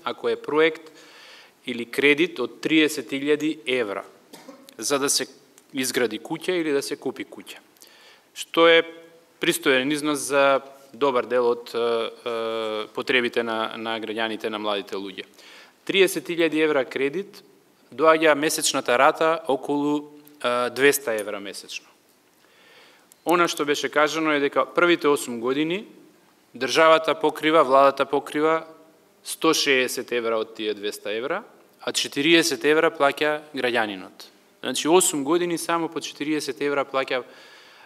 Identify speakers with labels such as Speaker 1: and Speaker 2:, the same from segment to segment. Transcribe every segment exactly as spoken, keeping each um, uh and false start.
Speaker 1: ако е проект или кредит од триесет илјади евра за да се изгради куќа или да се купи куќа, што е пристоен износ за добар дел од е, е, потребите на, на граѓаните, на младите луѓе. триесет илјади евра кредит доаѓа месечната рата околу е, двесте евра месечно. Она што беше кажано е дека првите осум години државата покрива, владата покрива сто шеесет евра од тие двесте евра, а четириесет евра плаќа граѓанинот. Значи осум години само по четириесет евра плаќа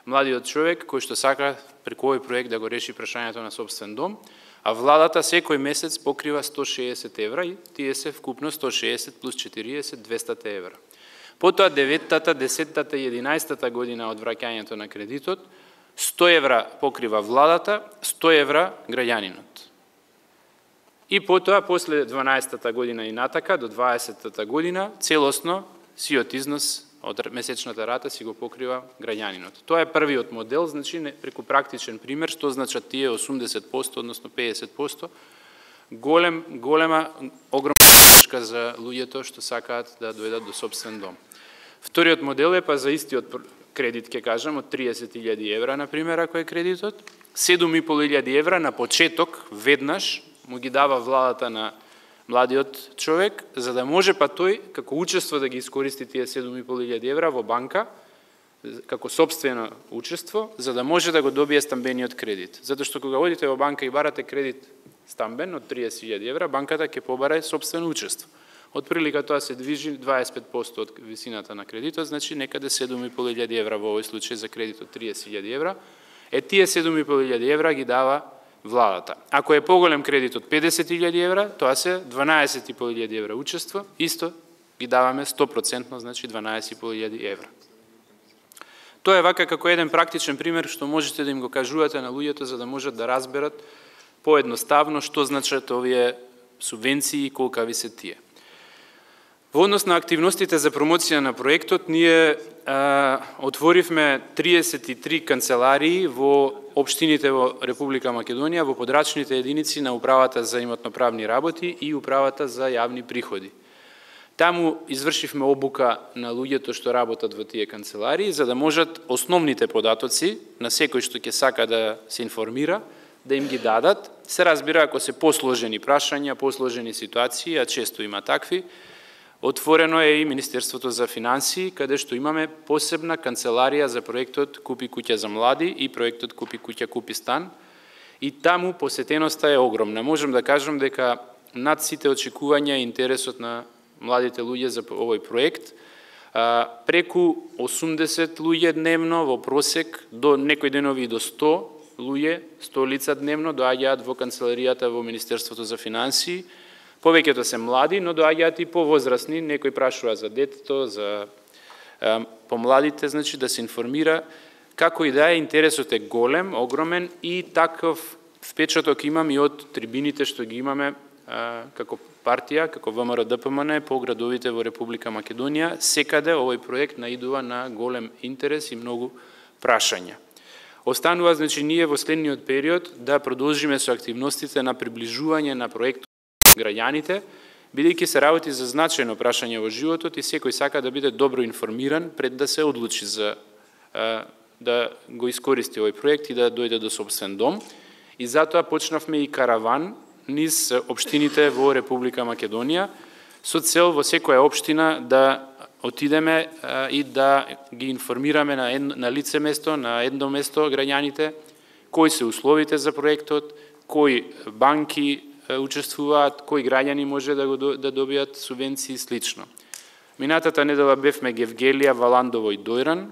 Speaker 1: младиот човек кој што сака преку овој проект да го реши прашањето на сопствен дом, а владата секој месец покрива сто шеесет евра и тие се вкупно сто шеесет плюс четириесет, двесте евра. Потоа деветата, десеттата и единаесеттата година од враќањето на кредитот, сто евра покрива владата, сто евра граѓанинот. И потоа, после дванаесеттата година и натака, до дваесеттата година, целосно сиот износ од месечната рата си го покрива граѓанинот. Тоа е првиот модел, значи преку практичен пример, што значат тие осумдесет проценти, односно педесет проценти, голем, голема, огромна поддршка за луѓето што сакаат да дојдат до сопствен дом. Вториот модел е па за истиот кредит, ќе кажам, од триесет илјади евра, например, ако е кредитот, седум и пол илјади евра на почеток, веднаш, му ги дава владата на младиот човек, за да може па тој, како учество, да ги искористи тие седум и пол илјади евра во банка, како собствено учество, за да може да го добие стамбениот кредит. Затоа што кога одите во банка и барате кредит стамбен од триесет илјади евра, банката ќе побара собствено учество. Од прилика тоа се движи дваесет и пет проценти од висината на кредитот, значи некаде седум и пол илјади евра во овој случај за кредит од триесет илјади евра. Е тие седум и пол илјади евра ги дава владата. Ако е поголем кредит од педесет илјади евра, тоа се дванаесет и пол илјади евра учество, исто ги даваме сто проценти, значи дванаесет и пол илјади евра. Тоа е вака како еден практичен пример што можете да им го кажувате на луѓето за да можат да разберат поедноставно што значат овие субвенции и колкави се тие. Во однос на активностите за промоција на проектот, ние а, отворивме триесет и три канцеларии во општините во Република Македонија, во подрачните единици на Управата за имотно-правни работи и Управата за јавни приходи. Таму извршивме обука на луѓето што работат во тие канцеларии, за да можат основните податоци на секој што ќе сака да се информира, да им ги дадат. Се разбира, ако се посложени прашања, посложени ситуации, а често има такви, отворено е и Министерството за финансии, каде што имаме посебна канцеларија за проектот Купи куќа за млади и проектот Купи куќа, купи стан. И таму посетеноста е огромна. Можам да кажам дека над сите очекувања и интересот на младите луѓе за овој проект, преку осумдесет луѓе дневно во просек, до некои денови до сто луѓе, сто лица дневно доаѓаат во канцеларијата во Министерството за финансии. Повеќето се млади, но доаѓаат и повозрасни, некој прашува за детето, за е, помладите, значи да се информира. Како и да е, интересот е голем, огромен и таков впечаток имам и од трибините што ги имаме е, како партија, како ВМРО-ДПМН по градовите во Република Македонија. Секаде овој проект наидува на голем интерес и многу прашања. Останува, значи, ние во следниот период да продолжиме со активностите на приближување на проектот граѓаните, бидејќи се работи за значајно прашање во животот и секој сака да биде добро информиран пред да се одлучи за а, да го искористи овој проект и да дојде до сопствен дом. И затоа почнавме и караван низ општините во Република Македонија со цел во секоја општина да отидеме а, и да ги информираме на, ед, на лице место, на едно место граѓаните, кои се условите за проектот, кои банки учествуваат, кои граѓани може да го да добијат субвенции и слично. Минатата недела бевме Гевгелија, Валандово и Дојран.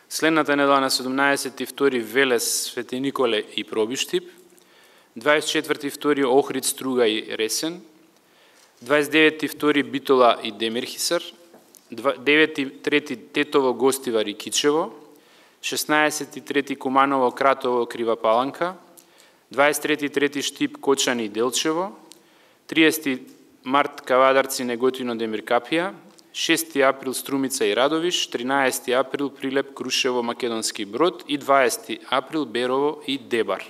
Speaker 1: Следната недела на седумнаесети втори Велес, Свети Николе и Пробиштип. дваесет и четврти втори Охрид, Струга и Ресен. дваесет и деветти втори Битола и Демирхисар. девети трети Тетово, Гостивар и Кичево. шеснаесети трети Куманово, Кратово, Крива Паланка. дваесет и трети трети Штип, Кочани и Делчево, триесети март Кавадарци, Неготино, Демиркапија, шести април Струмица и Радовиш, тринаесети април Прилеп, Крушево, Македонски Брод и дваесети април Берово и Дебар.